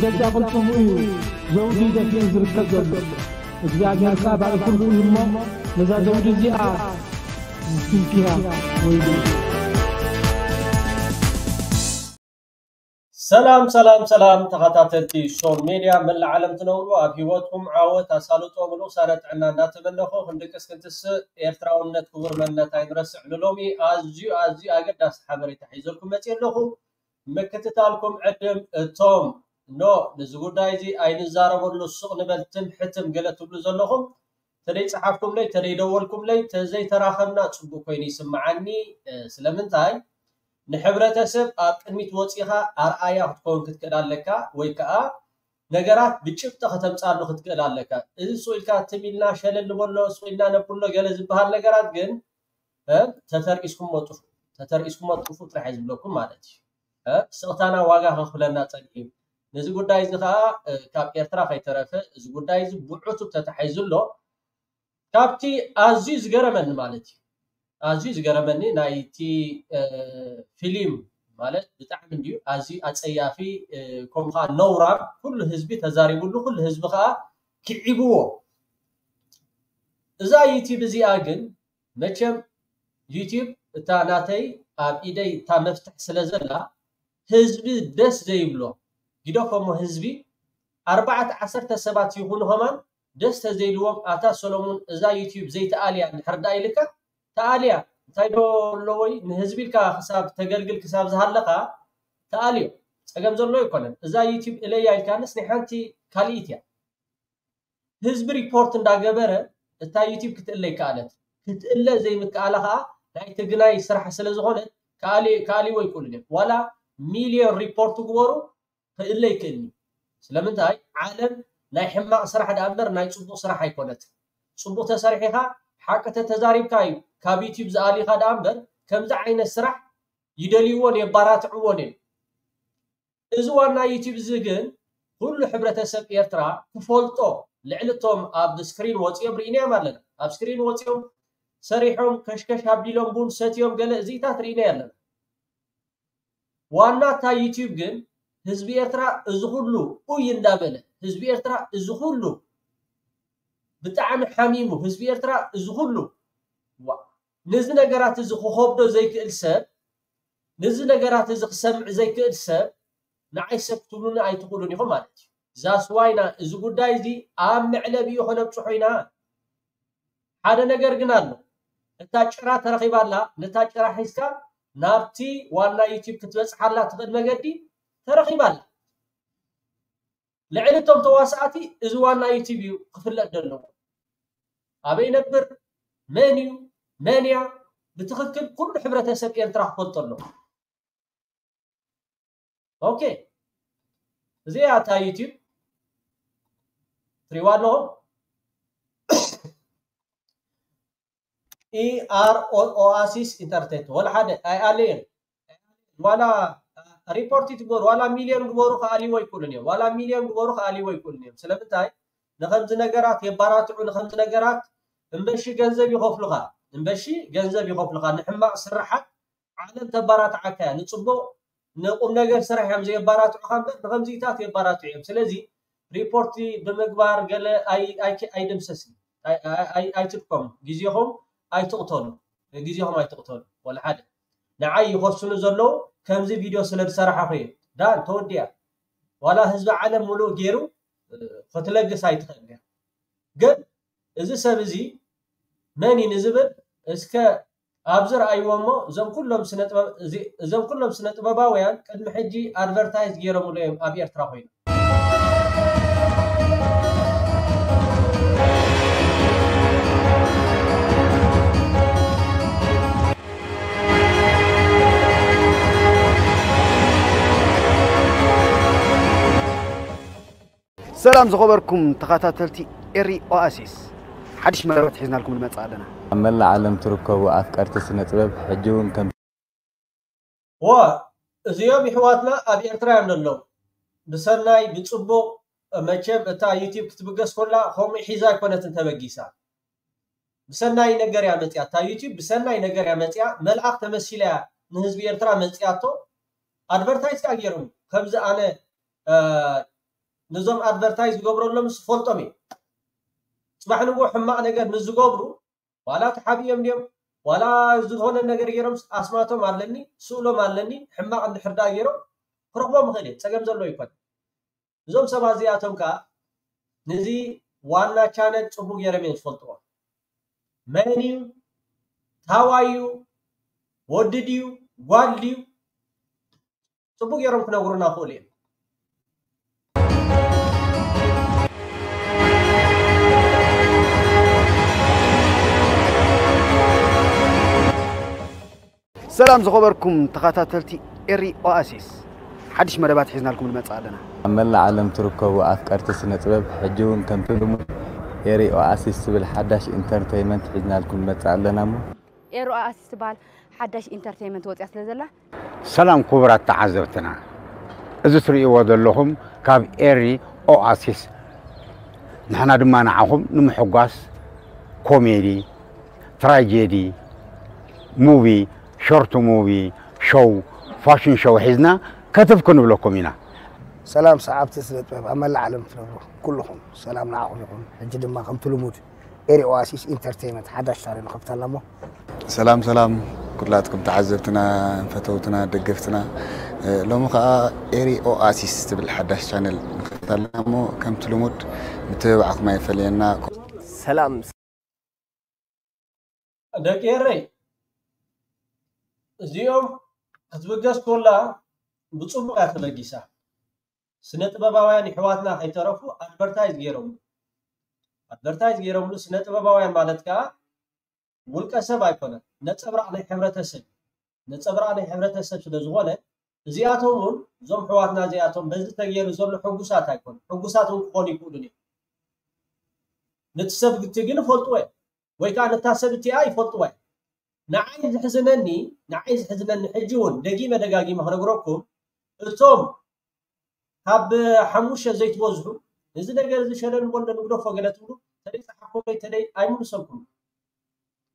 ገዛ ቅልጽሙ እዩ ዘውዲ ደፊኡ ዝርከብ ዘሎ። እግዚኣብሔር ከኣ ብኣይ ፍርዱ እዩ እሞ፣ ነዛ ዘውዲ እዚኣ ዝትንክያ ወይሉ። ሰላም፣ ሰላም፣ ሰላም፣ ተኸታተልቲ ሶል ሜድያ መላእ ዓለም ትነብሩ፣ ኣብ ህይወትኩም ዓወት፣ ኣሳልጦ፣ ምሉእ ሳረ ጥዕና እንዳተመነኹ፣ ክንድቅስ ክንትስእ፣ ኤርትራውነት ክቡር መንነት ኣይንረስዕ። ንሎሚ ኣዝዩ፣ ኣዝዩ ኣገዳሲ ሓበሬታ ሒዘልኩም መጽየ ኣለኹ። ምክትታልኩም ዕድም እቶም ኖ፣ ነዚ ጉዳይ እዚ ኣይንዛረበሉ፣ ስቕ ንበል፣ ትም ሕትም ገለ ትብሉ ዘለኹም፣ ተደይ ጸሓፍኩምለይ፣ ተደይ ደወልኩምለይ፣ ተዘይተራኸብና ጽቡቅ ኮይኑ ይስምዓኒ። እ፣ ስለምንታይ? ንሕብረተሰብ ኣብ ቅድሚት ወጺኻ ኣርኣያ ክትከውን ክትክእል ኣለካ፣ ወይ ከኣ ነገራት ብጭብጢ ከተምጻሉ ክትክእል ኣለካ። እዚ ስቕ ኢልካ ትም ኢልና ሸለል ንበሎ፣ ስቕ ኢልና ነብሎ ገለ ዝበሃል ነገራት ግን፣ እ፣ ተተርኢስኩሞ ጥፉ፣ ተተርኢስኩሞ ጥፉ ጥራሕ እየ ዝብለኩም ማለት እዩ። እ፣ ስቕታና ዋጋ ከኽፍለና ጸኒሑ እዩ። ነዚ ጉዳይ እዚ ከኣ፣ እ፣ ካብ ኤርትራ ከይተረፈ እዚ ጉዳይ እዚ ብዕቱብ ተታሒዙ ኣሎ። ካብቲ ኣዝዩ ዝገረመኒ ማለት እዩ፣ ኣዝዩ ዝገረመኒ ናይቲ፣ እ፣ ፊልም ማለት ብጣዕሚ እንድዩ ኣዝዩ ኣጸያፊ፣ እ፣ ከምኡ ከኣ ነውራም፣ ኩሉ ህዝቢ ተዛሪቡሉ፣ ኩሉ ህዝቢ ከኣ ክዒብዎ። እዛ ዩቲብ እዚኣ ግን መቸም ዩቲብ እታ ናተይ ኣብ ኢደይ እታ መፍትሕ ስለ ዘላ ህዝቢ ደስ ዘይብሎ ግደፎሞ ህዝቢ ኣርባዕተ ዓሰርተ ሰባት ይኹኑ ከማን ደስ ተዘይልዎም ኣታ ሰሎሙን እዛ ዩቲብ ዘይተኣልያ እንድሕር ደኣ ኢልካ ተኣልያ እንታይ ዶ ኣለዎይ ንህዝቢ ኢልካ ክሳብ ተገልግል ክሳብ ዝሃለኻ ተኣልዮ ጸገም ዘሎ ኣይኮነን። እዛ ዩቲብ እለያ ኢልካንስ ናይ ሓንቲ ካልኢት እያ። ህዝቢ ሪፖርት እንዳገበረ እታ ዩቲብ ክትእለ ይከኣለት። ክትእለ ዘይምክኣላ ከዓ ናይ ትግናይ ስራሕ ስለ ዝኾነት ከኣሊ-፣ ከኣሊዎ ይክእሉን እዮም። ዋላ ሚልዮን ሪፖርት ግበሩ ክእለ ይክእልኒ። ስለምንታይ? ዓለም ናይ ሕማቕ ስራሕ ደኣ እምበር ናይ ጽቡቕ ስራሕ ኣይኮነትን። ጽቡቕ ተሰሪሒኻ ሓቂ ተተዛሪብካ እዩ ካብ ዩቲብ ዝኣሊኻ ደኣ እምበር ከምዚ ዓይነት ስራሕ ይደልይዎን የባራትዕዎን እዮም። እዚ ዋና ዩቲብ እዚ ግን ኩሉ ሕብረተሰብ ኤርትራ ክፈልጦ ልዕሊ እቶም ኣብ ስክሪን ወፂኦም ርኢናዮም ኣለና። ኣብ ስክሪን ወፂኦም ሰሪሖም ከሽከሽ ኣቢሎም ቡን ሰትዮም ገለ እዚታት ርኢናዮ ኣለና። ዋና እታ ዩቲብ ግን ህዝቢ ኤርትራ እዚ ኩሉ ኡይ እንዳበለ ህዝቢ ኤርትራ እዚ ኩሉ ብጣዕሚ ሓሚሙ ህዝቢ ኤርትራ እዚ ኩሉ ዋ-፣ ነዚ ነገራት እዚ ክኸብዶ ዘይክእል ሰብ ነዚ ነገራት እዚ ክሰምዕ ዘይክእል ሰብ ንዓይ ሰብ ክትብሉኒ ኣይትኽእሉን ኢኹም ማለት እዩ። ዛስዋይና እዚ ጉዳይ እዚ ኣብ መዕለቢኡ ከነብፅሖ ኢና። ሓደ ነገር ግን ኣሎ። እታ ጭራ ተረኺባ ኣላ። ነታ ጭራ ሒዝካ ናብቲ ዋና ዩቲብ ክትበፅሓላ ትኽእል መገዲ ተረኺባ ኣላ። ልዕሊ እቶም ተዋሳእቲ እዚ ዋና ዩቲብ እዩ ክፍለጥ ዘለዎ። ኣበይ ነብር፣ መን እዩ፣ መን እያ፣ ብትኽክል ኩሉ ሕብረተሰብ ኤርትራ ክፈልጦ ኣለዎ። ኦኬ፣ እዚኣ እታ ዩቲብ ትሪዋ ኣለኹም። ኢኣር ኦኣሲስ ኢንተርቴንመንት ወላ ሓደ ኣይኣለየን። ዋላ ሪፖርት ይትግበሩ፣ ዋላ ሚልዮን ግበሩ ክኣልይዎ ኣይክእሉን እዮም። ዋላ ሚልዮን ግበሩ ክኣልይዎ ኣይክእሉን እዮም። ስለምንታይ? ንኸምዚ ነገራት የባራትዑ፣ ንኸምዚ ነገራት እምበሺ ገንዘብ ይኸፍሉኻ፣ እምበሺ ገንዘብ ይኸፍሉኻ። ንሕማቕ ስራሓት ዓለም ተባራትዓካ እያ። ንጽቡቕ ንቁም ነገር ስራሕ እዮም ዘየባራትዑኻ እምበር ንኸምዚታት የባራትዑ እዮም። ስለዚ ሪፖርት ብምግባር ገለ ኣይ-፣ ኣይ-፣ ኣይድምሰስን፣ ኣይ-፣ ኣይ-፣ ኣይ-፣ ኣይትድከሙ፣ ግዜኹም ኣይትቕተሉ፣ ግዜኹም ኣይትቕተሉ። ወላ ሓደ ንዓይ ይኸሱኒ ዘለዉ ከምዚ ቪድዮ ስለ ዝሰራሕኹ እየ። ዳን ተወዲኣ። ዋላ ህዝቢ ዓለም ሙሉእ ገይሩ ክትለግስ ኣይትኽእልን እያ። ግን እዚ ሰብ እዚ መን እዩ ንዝብል እስከ ኣብዚ ረኣይዎ እሞ እዞም ኩሎም ስነ ጥበብ-፣ እዚ-፣ እዞም ኩሎም ስነ ጥበባውያን ቅድሚ ሕጂ ኣድቨርታይዝ ገይሮምሉ እዮም ኣብ ኤርትራ ኮይኖም። ሰላም ዝኸበርኩም ተኸታተልቲ ኤሪ ኦኣሲስ፣ ሓድሽ መርበብ ሒዝናልኩም ንመጽእ ኣለና። ኣብ መላእ ዓለም ትርከቡ ኣፍቀርቲ ስነ ጥበብ፣ ሕጂ እውን ከም ዋ፣ እዚኦም ይሕዋትና ኣብ ኤርትራ እዮም ዘለዉ። ብሰናይ፣ ብጽቡቕ፣ መቸም እታ ዩቲብ ክትብገስ ኮላ ከምኡ ሒዛ ኣይኮነትን ተበጊሳ። ብሰናይ ነገር እያ መጽያ፣ እታ ዩቲብ ብሰናይ ነገር እያ መጽያ፣ መልኣኽ ተመሲላ እያ ንህዝቢ ኤርትራ መጽያቶ። ኣድቨርታይዝ ከኣ ገይሮም፣ ከምዚ ኣነ፣ እ፣ ነዞም ኣድቨርታይዝ ዝገብረሎም ዝፈልጦም እዩ። ጽባሕ ንግሆ ሕማቕ ነገር ንዝገብሩ ዋላ ተሓቢኦም ድዮም ዋላ ዝኾነ ነገር ገይሮም ኣስማቶም ኣለኒ፣ ስእሎም ኣለኒ፣ ሕማቕ እንድሕር ደኣ ገይሮም ክረኽቦም ይኽእል እየ፣ ጸገም ዘለዎ ኣይኮነን። እዞም ሰባት እዚኣቶም ከኣ ነዚ ዋና ቻነል ጽቡቕ ገይሮም እዮም ዝፈልጥዎ። መን እዩ? ታዋይ እዩ? ወዲ ድዩ? ጓል ድዩ? ጽቡቕ ገይሮም ክነግሩና ይኽእሉ እዮም። ሰላም ዝኸበርኩም ተኸታተልቲ ኤሪ ኦኣሲስ፣ ሓድሽ መደባት ሒዝናልኩም ንመጽእ ኣለና። ኣብ መላእ ዓለም ትርከቡ ኣፍቀርቲ ስነ ጥበብ፣ ሕጂ እውን ከምቲ ልሙድ ኤሪ ኦኣሲስ ዝብል ሓዳሽ ኢንተርተይመንት ሒዝናልኩም ንመጽእ ኣለና እሞ። ኤሪ ኦኣሲስ ትበሃል ሓዳሽ ኢንተርተይመንት ወፂኣ ስለ ዘላ። ሰላም ክቡራት ተዓዘብትና፣ እዚ ትርእይዎ ዘለኹም ካብ ኤሪ ኦኣሲስ፣ ንሕና ድማ ንዓኹም ንምሕጓስ ኮሜዲ፣ ትራጀዲ፣ ሙቪ፣ ሾርት ሙቪ፣ ሾው፣ ፋሽን ሾው ሒዝና ከተፍ ክንብለኩም ኢና። ሰላም ሰዓብቲ ስነ ጥበብ ኣብ መላእ ዓለም ትነብሩ ኩልኹም ሰላም ንዓኹም ይኹን። ሕጂ ድማ ከምቲ ልሙድ ኤሪ ኦኣሲስ ኢንተርቴይመንት ሓዳሽ ቻነል ንኸፍት ኣለና እሞ። ሰላም ሰላም ኩላትኩም ተዓዘብትና፣ ፈተውትና፣ ደገፍትና፣ እ፣ ሎሚ ኸኣ ኤሪ ኦኣሲስ ትብል ሓዳሽ ቻነል ንኸፍት ኣለና እሞ ከምቲ ልሙድ ምትብባዕኩም ኣይፈለየና። ሰላም ደቂ ኤረይ፣ እዚኦም ክትብገስ ኮላ ብጽቡቕ እያ ተበጊሳ። ስነ ጥበባውያን ይሕዋትና ከይተረፉ ኣድቨርታይዝ ገይሮምሉ። ኣድቨርታይዝ ገይሮምሉ። ስነ ጥበባውያን ማለት ከኣ ውልቀ ሰብ ኣይኮነን፣ ነጸብራቕ ናይ ሕብረተሰብ፣ ነጸብራቕ ናይ ሕብረተሰብ ስለ ዝኾነ፣ እዚኣቶም እውን እዞም ኣሕዋትና እዚኣቶም በዚ ተገይሩ ዘሎ ሕጉሳት ኣይኮኑን። ሕጉሳት እውን ክኾኑ ይኽእሉን እዮም። ነቲ ሰብ እቲ ግን ይፈልጥዎ እዮም፣ ወይ ከዓ ነታ ሰብ እቲኣ ይፈልጥዋ እዮም። ንዓይ ዝሕዝነኒ፣ ንዓይ ዝሕዝነኒ ሕጂ እውን ደጊመ ደጋጊመ ክነግረኩም፣ እቶም ካብ ሓሙሽተ ዘይትበዝሑ፣ እዚ ነገር እዚ ሸለል በሎ ንግደፎ ገለ ትብሉ፣ ተደይ ጸሓፍኩምለይ፣ ተደይ ኣይምልሰልኩምን።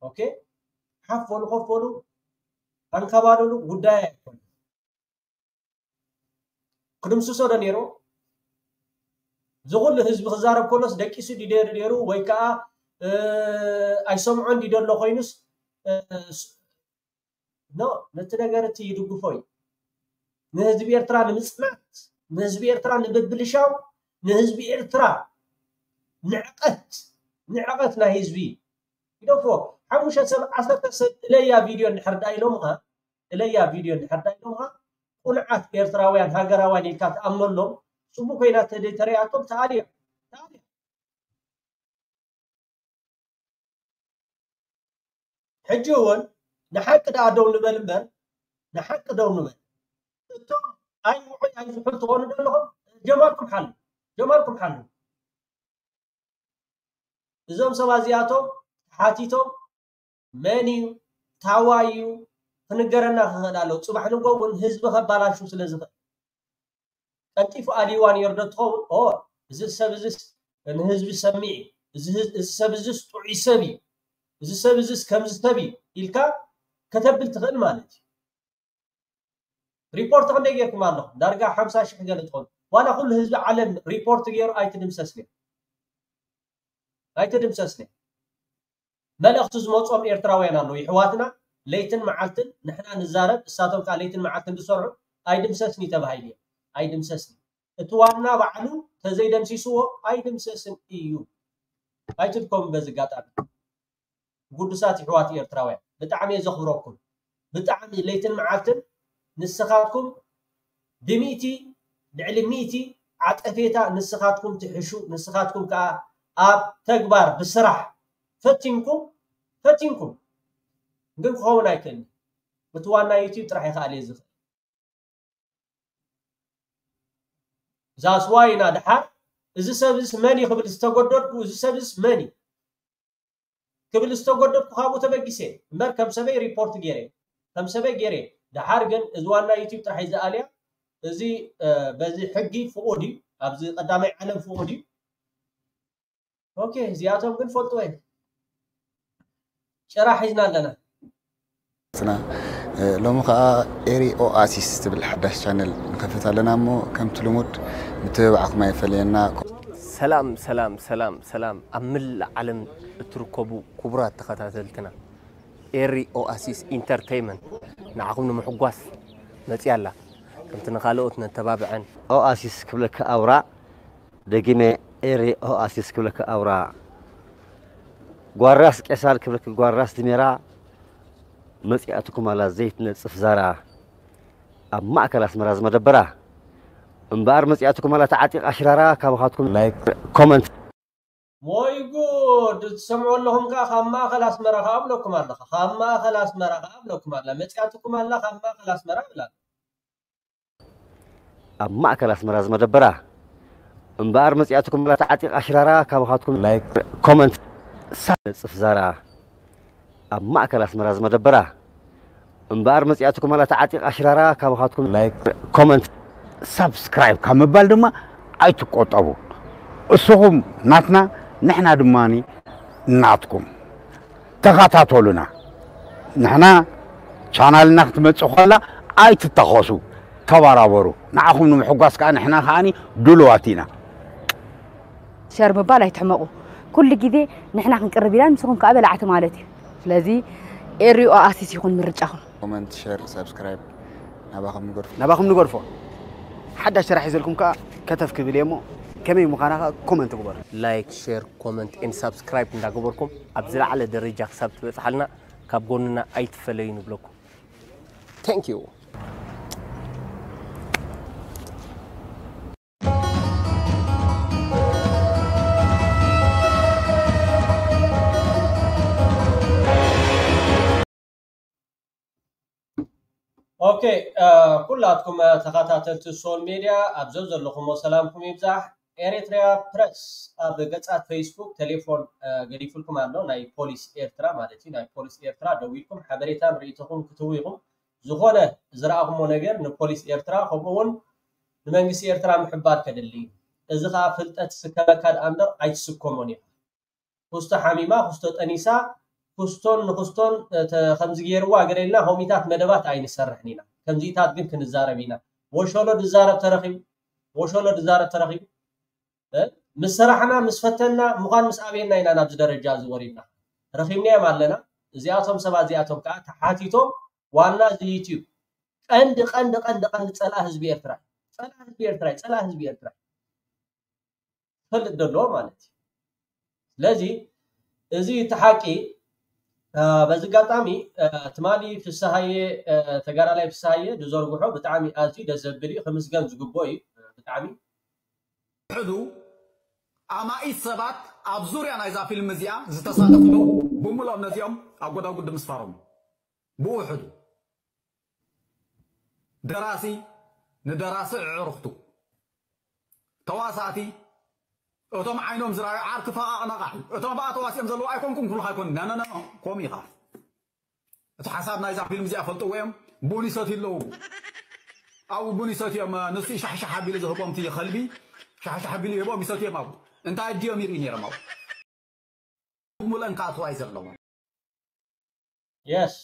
ኦኬ፣ ሓፍ በሉ፣ ኮፍ በሉ፣ ኣንከባልሉ፣ ጉዳይ ኣይኮነን። ክድምስሶ ዶ ነይሩ? እዚ ኩሉ ህዝቢ ክዛረብ ከሎስ ደቂሱ ድዩ ነይሩ ነይሩ ወይ ከዓ፣ እ፣ ኣይሰምዖን ድዩ ዘሎ ኮይኑስ፣ እ፣ ስ-፣ ኖ፣ ነቲ ነገር እቲ ይድግፎ እዩ። ንህዝቢ ኤርትራ ንምጽናት፣ ንህዝቢ ኤርትራ ንምብልሻው፣ ንህዝቢ ኤርትራ ንዕቀት፣ ንዕቀት ናይ ህዝቢ ይደፍዎ። ሓሙሽተ ሰብ፣ ዓሰርተ ሰብ እለያ ቪድዮ እንድሕር ደኣ ኢሎምኻ፣ እለያ ቪድዮ እንድሕር ደኣ ኢሎምኻ፣ ቁኑዓት ኤርትራውያን ሃገራውያን ኢልካ ትኣምነሎም፣ ጽቡቕ ኮይና ተደይ ተረኣያቶም ትኣልዮ። ትኣልዮ። ሕጂ እውን ንሓቂ ደኣ ደው ንበል እምበር፣ ንሓቂ ደው ንበል። እቶም ኣይ ውዑይ ኣይ ዝሑል ትኾኑ ዘለኹም፣ ጀማልኩም ሓሉ፣ ጀማልኩም ሓሉ። እዞም ሰባት እዚኣቶም ተሓቲቶም መን እዩ፣ ታዋይ እዩ፣ ክንገረና ክኽእል ኣለዎ። ጽባሕ ንግሆ እውን ህዝቢ ከባላሹ ስለ ዝኽእል። ቀልጢፉ ኣልይዋ ነይሩ ዶ ትኸውን? ኦ፣ እዚ ሰብ እዚስ ንህዝቢ ሰሚዕ እዩ፣ እዚ ህዝ-፣ እዚ ሰብ እዚስ ጥዑይ ሰብ እዩ፣ እዚ ሰብ እዚስ ከምዚ ሰብ እዩ ኢልካ ከተብል ትኽእል ማለት እዩ። ሪፖርት ክንደይ ጌርኩም ኣለኹም? ዳርጋ ሓምሳ ሽሕ ገለ ትኾኑ። ዋላ ኩሉ ህዝቢ ዓለም ሪፖርት ገይሩ ኣይትድምሰስን እያ። ኣይትድምሰስን እያ። መልእኽቲ ዝመጾም ኤርትራውያን ኣለዉ። ይሕዋትና ለይትን መዓልትን ንሕና ንዛረብ፣ እሳቶም ከኣ ለይትን መዓልትን ዝሰርሑ ኣይድምሰስን እዩ ተባሂሉ እዩ። ኣይድምሰስን። እቲ ዋና ባዕሉ ተዘይደምሲስዎ ኣይድምሰስን እዩ። ኣይትድከሙ በዚ ኣጋጣሚ። ግዱሳት ይሕዋት ኤርትራውያን፣ ብጣዕሚ እየ ዘኽብረኩም። ብጣዕሚ ለይትን መዓልትን ንስኻትኩም ብሚእቲ፣ ልዕሊ ሚእቲ ዓጸፌታ ንስኻትኩም ትሕሹ፣ ንስኻትኩም ከኣ ኣብ ተግባር ብስራሕ ፈቲንኩም፣ ፈቲንኩም ግን ክኸውን ኣይክእልን። እቲ ዋና ዩቲዩብ ጥራሕ እዩ ክኣልዮ ዝኽእል። ዛስዋይ ኢና ደሓር እዚ ሰብ እዚስ መን እዩ ክብል ዝተጎደድኩ፣ እዚ ሰብ እዚስ መን እዩ ክብል ዝተጎደድኩ ካብኡ ተበጊሰ እምበር ከም ሰበይ ሪፖርት ገይረ፣ ከም ሰበይ ገይረ። ደሓር ግን እዚ ዋና ዩቲዩብ ጥራሕ እዩ ዝኣልያ። እዚ፣ እ፣ በዚ ሕጊ ፍቑድ እዩ፣ ኣብዚ ቀዳማይ ዓለም ፍቑድ እዩ። ኦኬ፣ እዚኣቶም ግን ፈልጥዎ እዮም። ጭራ ሒዝና ኣለና። ትና ሎሚ ኸኣ ኤሪ ኦኣሲስ ትብል ሓዳሽ ቻነል ንኸፍት ኣለና እሞ ከምቲ ልሙድ ምትብባዕኩም ኣይፈለየና። ሰላም ሰላም ሰላም ሰላም ኣብ መላእ ዓለም እትርከቡ ክቡራት ተኸታተልትና፣ ኤሪ ኦኣሲስ ኢንተርተይመንት ንዓኹም ንምሕጓስ መፅያ ኣላ። ከምቲ ንኻልኦት ነተባብዐን። ኦኣሲስ ክብለካ ኣውራ፣ ደጊመ ኤሪ ኦኣሲስ ክብለካ ኣውራ፣ ጓራስ ቄሳር ክብለካ ጓራስ ድሜራ፣ መፂኣትኩም ኣላ ዘይትነፅፍ ዛራ፣ ኣብ ማእከል ኣስመራ ዝመደበራ። እምበኣር መፂኣትኩም ኣላ ተዓጢቓ ሽራራ፣ ካባኻትኩም ላይክ ኮመንት። ወይ ጉድ! ትሰምዑ ኣለኹም ከኣ ካብ ማእኸል ኣስመራ ከኣ እብለኩም ኣለኻ። ካብ ማእኸል ኣስመራ ከኣ እብለኩም ኣላ። መጺኣትኩም ኣላ ካብ ማእኸል ኣስመራ እብላ። ኣብ ማእከል ኣስመራ ዝመደበራ። እምበኣር መጺኣትኩም ኣላ ተዓጢቓ ሽራራ፣ ካባኻትኩም ላይክ ኮመንት ሳብ ነጽፍ ዛራ። ኣብ ማእከል ኣስመራ ዝመደበራ። እምበኣር መጺኣትኩም ኣላ ተዓጢቓ ሽራራ፣ ካባኻትኩም ላይክ ኮመንት ሳብስክራይብ ካብ ምባል ድማ ኣይትቆጠቡ። እስኹም ናትና ንሕና ድማ ናትኩም። ተኸታተሉና። ንሕና ቻናልና ክትመጽእ ከላ ኣይትታኸሱ፣ ተባራበሩ። ንዓኹም ንምሕጓስ ከኣ ንሕና ከኣኒ ድሉዋት ኢና። ሸር ምባል ኣይትሕመቑ። ኩሉ ግዜ ንሕና ክንቅርብ ኢና፣ ንስኹም ከኣ በላዕቲ ማለት እዩ። ስለዚ ኤሪ ኦኣሲስ ይኹን ምርጫኹም። ኮመንት፣ ሸር፣ ሳብስክራይብ ናባኹም ንገድፎ። ናባኹም ንገድፎ። ሓዳሽ ስራሕ ሒዘልኩም ከኣ ከተፍ ክብል እየ እሞ ከመይ ምዃና ከኣ ኮመንት ግበሩ። ላይክ፣ ሼር፣ ኮመንት ኤንድ ሳብስክራይብ እንዳገበርኩም ኣብ ዝለዓለ ደረጃ ክሳብ ትበጽሓልና ካብ ጎንና ኣይትፈለዩ ንብለኩም። Thank you። ኦኬ፣ ኩላትኩም ተኸታተልቲ ሶል ሜድያ ኣብ ዘዘለኹሞ ሰላምኩም ይብዛሕ። ኤሪትሪያ ፕረስ ኣብ ገጻት ፌስቡክ፣ ቴሌፎን ገዲፉልኩም ኣሎ፣ ናይ ፖሊስ ኤርትራ ማለት እዩ። ናይ ፖሊስ ኤርትራ ደዊልኩም ሓበሬታን ርእይቶኹም ክትህቡ ኢኹም። ዝኾነ ዝረኣኹሞ ነገር ንፖሊስ ኤርትራ ከምኡ እውን ንመንግስቲ ኤርትራ ምሕባር ከድሊ እዩ። እዚ ኸኣ ፍልጠት ዝስከመካ ደኣ እምበር ኣይትስከሞን ኢኻ። ኩስቶ ሓሚማ፣ ኩስቶ ጠኒሳ፣ ኩስቶን ንኩስቶን ከምዚ ገይርዋ ገለ ኢልና ከምኢታት መደባት ኣይንሰርሕን ኢና። ከምዚታት ግን ክንዛረብ ኢና። ወሸሎ ድዛረብ ተረኺቡ፣ ወሸሎ ድዛረብ ተረኺቡ። ምስ ሰራሕና ምስ ፈተና ምዃን ምስ ኣበየና ኢና ናብዚ ደረጃ እዚ ወሪድና። ረኺብናዮም ኣለና። እዚኣቶም ሰባት እዚኣቶም ከዓ ተሓቲቶም ዋና እዚ ዩትዩብ ቀንዲ ቀንዲ ቀንዲ ቀንዲ ፀላእ ህዝቢ ኤርትራ እዩ። ፀላእ ህዝቢ ኤርትራ እዩ። ፀላእ ህዝቢ ኤርትራ እዩ። ክፈልጥ ዘለዎ ማለት እዩ። ስለዚ እዚ እቲ ሓቂ በዚ ኣጋጣሚ ትማሊ ፍስሃየ ተጋዳላይ ፍስሃየ ዝዘርግሖ ብጣዕሚ ኣዝዩ ደስ ዘብል እዩ፣ ክምስገን ዝግብኦ እዩ። ብጣዕሚ ሕዱ ኣማኢት ሰባት ኣብ ዙርያ ናይዛ ፊልም እዚኣ ዝተሳተፉ ኣለዉ። ብምልኦም ነዚኦም ኣብ ጎዳጉዲ ምስፋሮም ብውሕዱ ደራሲ ንደራሲ ኣዕሩኽቱ ተዋሳእቲ እቶም ዓይኖም ዝረኣዩ ዓርኪ ፈቓቕ ነቓሕ እዩ። እቶም ብኣ ተዋሲኦም ዘለዉ ኣይኮንኩም ክብሉኻ ኣይኮኑን። ኖ ኖ ኖ ኖ ከምኡ ኢኻ። እቲ ሓሳብ ናይዛ ፊልም እዚኣ ፈልጥዎ እዮም። ቡን ይሰትዩ ኣለዉ። ኣብኡ ቡን ይሰትዮም። ንሱ እዩ ሻሕሻሕ ኣቢሉ ዝህቦም እቲ ከልቢ ሻሕሻሕ ኣቢሉ ይህቦም ይሰትዮም ኣብኡ። እንታይ ድዮም ይርኢ ነይሮም ኣብኡ። ሙለን ክኣትዋ እዩ ዘለዎም። የስ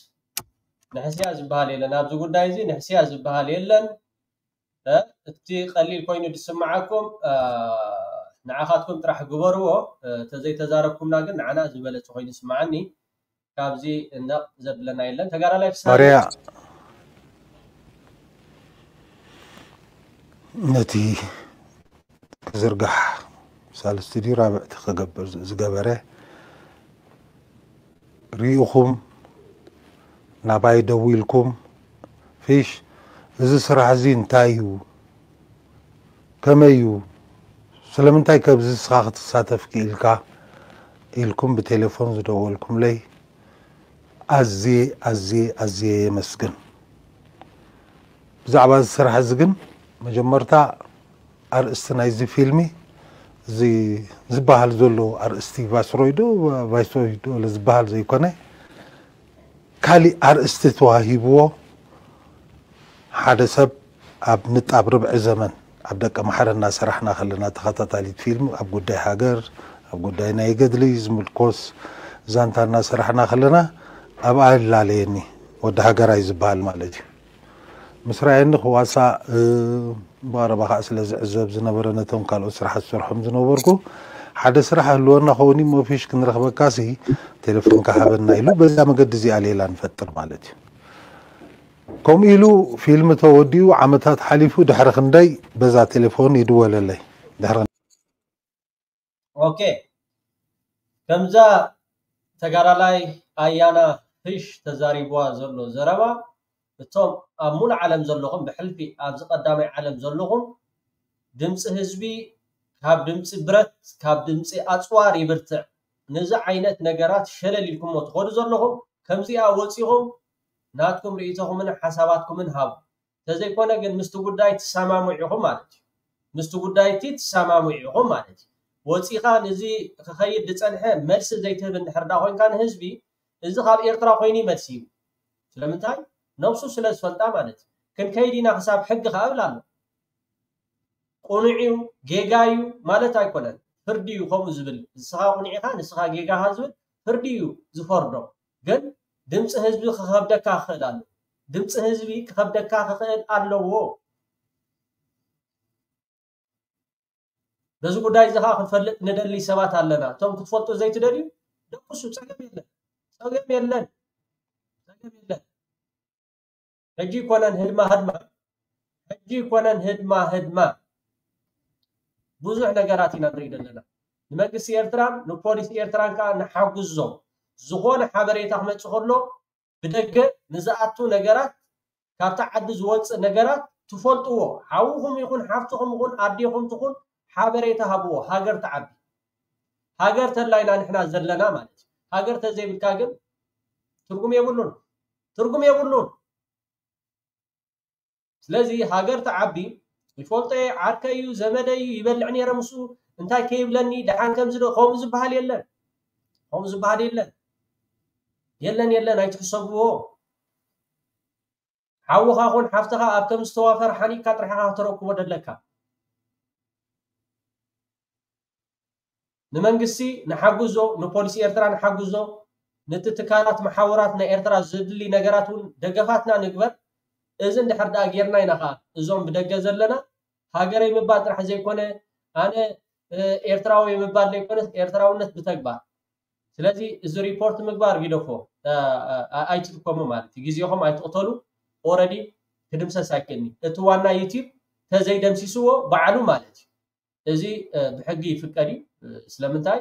ንሕስያ ዝበሃል የለን ኣብዚ ጉዳይ እዚ ንሕስያ ዝበሃል የለን። እቲ ቀሊል ኮይኑ ዝስምዓኩም ንዓኻትኩም ጥራሕ ግበርዎ። ተዘይተዛረብኩምና ግን ንዓና ዝበለፀ ኮይኑ ይስምዓኒ። ካብዚ ነቕ ዘብለና የለን። ተጋዳላይ ፍስሃ ባርያ ነቲ ክዝርጋሕ ሳልስቲ ድዩ ራብዕቲ ክገብር ዝገበረ ርኢኹም ናባይ ደዊልኩም ፊሽ እዚ ስራሕ እዚ እንታይ እዩ ከመይ እዩ ስለምንታይ ከብዚ ንስኻ ክትሳተፍ ክኢልካ ኢልኩም ብቴሌፎን ዝደወልኩምለይ ኣዝየ ኣዝየ ኣዝየ የመስግን። ብዛዕባ እዚ ስራሕ እዚ ግን መጀመርታ ኣርእስቲ ናይዚ ፊልሚ እዚ ዝበሃል ዘሎ ኣርእስቲ ቫይስሮይ ዶ ቫይስሮይ ዶ ዝበሃል ዘይኮነ ካሊእ ኣርእስቲ ተዋሂብዎ ሓደ ሰብ ኣብ ንጣብ ርብዒ ዘመን ኣብ ደቀ ማሕረ እናሰራሕና ከለና ተኸታታሊት ፊልም ኣብ ጉዳይ ሃገር ኣብ ጉዳይ ናይ ገድሊ ዝምልኮስ ዛንታ እናሰራሕና ከለና ኣብኣ ይላለየኒ ወዲ ሃገራይ ዝበሃል ማለት እዩ። ምስ ረኣየኒ ክዋሳእ፣ እ፣ ብቐረባ ከዓ ስለ ዝዕዘብ ዝነበረ ነቶም ካልኦት ስራሓት ዝሰርሖም ዝነበርኩ፣ ሓደ ስራሕ ህልወና ኸውን እዩ፣ መፊሽ ክንረኽበካሲ ቴሌፎንካ ሃበና ኢሉ፣ በዛ መገዲ እዚኣ ሌላ ንፈጥር ማለት እዩ። ከምኡ ኢሉ ፊልም ተወዲኡ ዓመታት ሓሊፉ፣ ድሕሪ ክንደይ በዛ ቴሌፎን ይድወለለይ። ድሕሪ ኦኬ፣ ከምዛ ተጋዳላይ ኣያና ፍሽ ተዛሪብዋ ዘሎ ዘረባ፣ እቶም ኣብ ሙሉእ ዓለም ዘለኹም፣ ብሕልፊ ኣብዚ ቀዳማይ ዓለም ዘለኹም፣ ድምፂ ህዝቢ ካብ ድምፂ ብረት፣ ካብ ድምፂ ኣፅዋር ይብርትዕ። ነዚ ዓይነት ነገራት ሸለል ኢልኩሞ ትኸዱ ዘለኹም፣ ከምዚኣ ወፂኹም ናትኩም ርእይቶኹምን ሓሳባትኩምን ሃቡ። ተዘይኮነ ግን ምስቲ ጉዳይ ትሰማምዑ ኢኹም ማለት እዩ። ምስቲ ጉዳይ እቲ ትሰማምዑ ኢኹም ማለት እዩ። ወፂኻ ንዚ ክኸይድ ዝፀንሐ መልሲ ዘይትህብ እንድሕር ዳ ኮይንካ ንህዝቢ፣ እዚ ካብ ኤርትራ ኮይኑ እዩ መልሲ እዩ። ስለምንታይ? ነብሱ ስለ ዝፈልጣ ማለት እዩ። ክንከይድ ኢና ክሳብ ሕጊ ከኣ እብል ኣሎ። ቁኑዕ እዩ፣ ጌጋ እዩ ማለት ኣይኮነን። ፍርዲ እዩ ከምኡ ዝብል። ንስኻ ቁኑዕ ኢኻ፣ ንስኻ ጌጋ ኢኻ ዝብል ፍርዲ እዩ ዝፈርዶ። ግን ድምፂ ህዝቢ ክኸብደካ ክኽእል ኣሎ። ድምፂ ህዝቢ ክኸብደካ ክኽእል ኣለዎ። በዚ ጉዳይ እዚ ኸዓ ክንፈልጥ ንደሊ ሰባት ኣለና። እቶም ክትፈልጡ ዘይትደልዩ ደቅሱ፣ ፀገም የለን። ፀገም የለን። ፀገም የለን። ሕጂ ይኮነን ህድማ ህድማ። ሕጂ ይኮነን ህድማ ህድማ። ብዙሕ ነገራት ኢና ንርኢ ዘለና። ንመንግስቲ ኤርትራን ንፖሊስ ኤርትራን ከዓ ንሓግዞም። ዝኾነ ሓበሬታ ክመፅእ ከሎ ብደገ ንዝኣቱ ነገራት፣ ካብታ ዓዲ ዝወፅእ ነገራት ትፈልጥዎ። ሓውኹም ይኹን ሓፍትኹም ይኹን ኣዴኹም ትኹን ሓበሬታ ሃብዎ። ሃገር ትዓቢ። ሃገር ተላይና ንሕና ዘለና ማለት እዩ። ሃገር ተዘይብልካ ግን ትርጉም የብሉን። ትርጉም የብሉን። ስለዚ ሃገር ትዓቢ። ይፈልጦ እየ፣ ዓርከይ እዩ፣ ዘመደይ እዩ፣ ይበልዕ ነይረ ምስኡ፣ እንታይ ከይብለኒ፣ ደሓን ከምዚ ዶ፣ ከምኡ ዝበሃል የለን። ከምኡ ዝበሃል የለን። የለን፣ የለን፣ ኣይትሕሰብዎ። ሓውኻ ኹን ሓፍትኻ ኣብ ከም ዝተዋፈረ ሓኒቕካ ጥራሕ ኢኻ ክተረክቦ ደለካ። ንመንግስቲ ንሓግዞ፣ ንፖሊስ ኤርትራ ንሓግዞ፣ ነቲ ትካላት መሓውራት ናይ ኤርትራ ዘድሊ ነገራት እውን ደገፋትና ንግበር። እዚ እንድሕር ደኣ ጌርና ኢና ኸዓ እዞም ብደገ ዘለና ሃገረይ ምባል ጥራሕ ዘይኮነ፣ ኣነ፣ እ፣ ኤርትራዊ ምባል ዘይኮነ ኤርትራውነት ብተግባር። ስለዚ እዚ ሪፖርት ምግባር ግደፎ፣ እ፣ እ፣ ኣይትጥቀሙ ማለት እዩ። ግዜኹም ኣይትቕተሉ። ኦረዲ ክድምሰስ ኣይክእልኒ። እቲ ዋና ዩቲዩብ ተዘይደምሲስዎ ባዕሉ ማለት እዩ። እዚ፣ እ፣ ብሕጊ ይፍቀድ እዩ። እ፣ ስለምንታይ?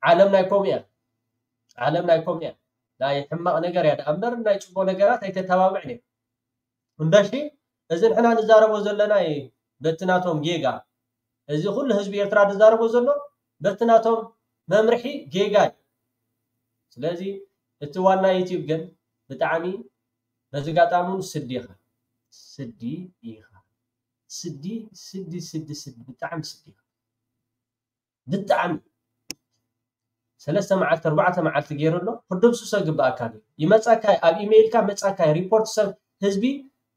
ዓለም ናይ ከምኡ እያ። ዓለም ናይ ከምኡ እያ። ናይ ሕማቕ ነገር እያ ደኣ እምበር ናይ ጽቡቕ ነገራት ኣይተተባብዕን እያ። እምበሺ፣ እዚ ንሕና ንዛረቦ ዘለና እዩ በቲ ናቶም ጌጋ። እዚ ኩሉ ህዝቢ ኤርትራ ዝዛረቦ ዘሎ በቲ ናቶም መምርሒ ጌጋ እዩ። ስለዚ እቲ ዋና ዩቲዩብ ግን ብጣዕሚ በዚ ኣጋጣሚ እውን ስዲ ኢኻ። ስዲ ኢኻ። ስዲ፣ ስዲ፣ ስዲ፣ ስዲ፣ ብጣዕሚ ስዲ ኢኻ። ብጣዕሚ ሰለስተ መዓልቲ፣ ኣርባዕተ መዓልቲ ገይሩ ኣሎ። ክድምስሶ ይግባኣካ እዩ። ይመጻካ፣ ኣብ ኢሜይልካ መጻካ፣ ሪፖርት ሰብ ህዝቢ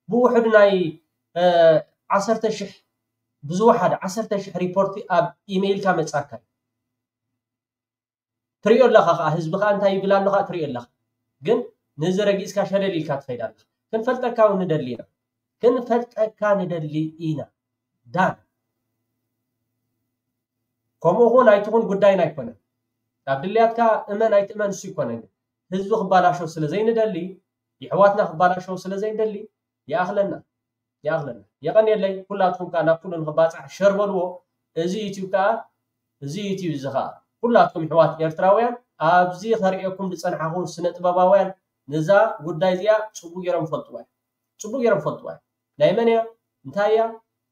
ብውሕዱ ናይ፣ እ፣ ዓሰርተ ሽሕ፣ ብዝወሓደ ዓሰርተ ሽሕ ሪፖርት ኣብ ኢሜይልካ መጻካ እዩ። ትሪኦ ኣለኻ ኸዓ፣ ህዝቢ ኸዓ እንታይ ይብል ኣሎ ኸዓ ትሪኦ ኣለኻ። ግን ነዚ ረጊጽካ ሸለል ኢልካ ትኸይድ ኣለኻ። ክንፈልጠካ እውን ንደሊ ኢና። ክንፈልጠካ ንደሊ ኢና። ዳን። ከምኡ ኹን ኣይትኹን ጉዳይና ኣይኮነን። ኣብ ድልያትካ እመን ኣይትእመን እሱ ኣይኮነን። ግን ህዝቢ ክባላሾ ስለ ዘይንደሊ፣ የሕዋትና ክባላሾ ስለ ዘይንደሊ፣ ይኣኽለና። ይኣኽለና። የቐንየለይ፣ ኩላትኩም ከኣ ናብ ኩሉ ንኽባጻሕ ሸር በልዎ። እዚ ዩቲዩብ ከኣ፣ እዚ ዩቲዩብ እዚ ከኣ ኩላትኩም ኣሕዋት ኤርትራውያን፣ ኣብዚ ከርእየኩም ዝጸንሓኹ ስነ ጥበባውያን ነዛ ጉዳይ እዚኣ ጽቡቕ ገይሮም ይፈልጥዋ እዮም። ጽቡቕ ገይሮም ይፈልጥዋ እዮም። ናይ መን እያ? እንታይ እያ?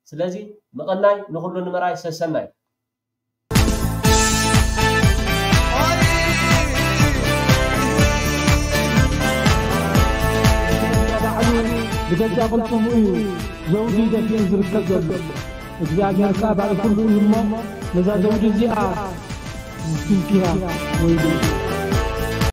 ስለዚ ምቕናይ ንኹሉ ንምርኣይ ሰሰናዩ። ባዕሉ ብገዛ ቅልጽሙ እዩ ዘውዲ ደፊኡ ዝርከብ ዘሎ። እግዚኣብሔር ከኣ ባዕሉ ኩሉ እዩ እሞ ነዛ ዘውዲ እዚኣ ዝትንክያ ወይሉ።